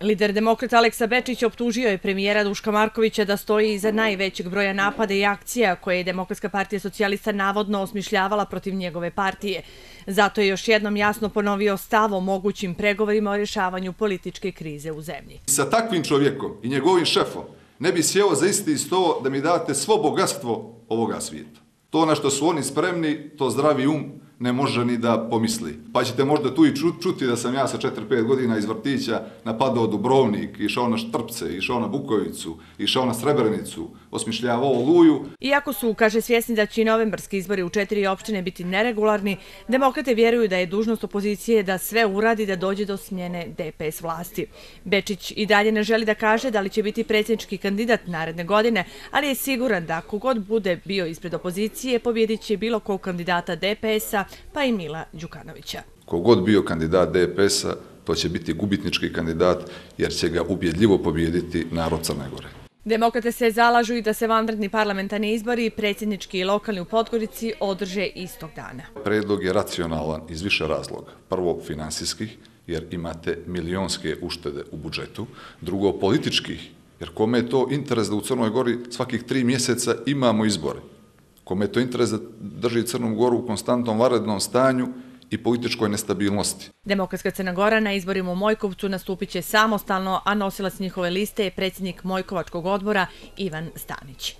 Lider demokrata Aleksa Bečić optužio je premijera Duška Markovića da stoji iza najvećeg broja napada i akcija koje je Demokratska partija socijalista navodno osmišljavala protiv njegove partije. Zato je još jednom jasno ponovio stav o mogućim pregovorima o rješavanju političke krize u zemlji. Sa takvim čovjekom i njegovim šefom ne bi sjeo za isti sto da mi date svo bogatstvo ovoga svijeta. To na što su oni spremni, to zdravi ne može ni da pomisli. Pa ćete možda tu i čuti da sam ja sa 4-5 godina iz vrtića napadao Dubrovnik, išao na Štrpce, išao na Bukovicu, išao na Srebrenicu, osmišljavao Oluju. Iako su, kaže, svjesni da će i novembarski izbori u 4 opštine biti neregularni, demokrate vjeruju da je dužnost opozicije da sve uradi da dođe do smjene DPS vlasti. Bečić i dalje ne želi da kaže da li će biti predsjednički kandidat naredne godine, ali je siguran da kogod bude bio ispred opozicije, pobjedit će bilo kog kandidata DPS-a, pa i Mila Đukanovića. Kogod bio kandidat DPS-a, to će biti gubitnički kandidat jer će ga ubjedljivo pobijediti narod Crne Gore. Demokrate se zalažu i da se vanredni parlamentarni izbori, predsjednički i lokalni u Podgorici, održe istog dana. Predlog je racionalan iz više razloga. Prvo, finansijskih, jer imate milionske uštede u budžetu. Drugo, političkih, jer kome je to interes da u Crnoj Gori svakih 3 mjeseca imamo izbore. Kome je to interes da drži Crnu Goru u konstantnom vanrednom stanju i političkoj nestabilnosti. Demokratska Crna Gora na izborima u Mojkovcu nastupit će samostalno, a nosilac njihove liste je predsjednik Mojkovačkog odbora Ivan Stanić.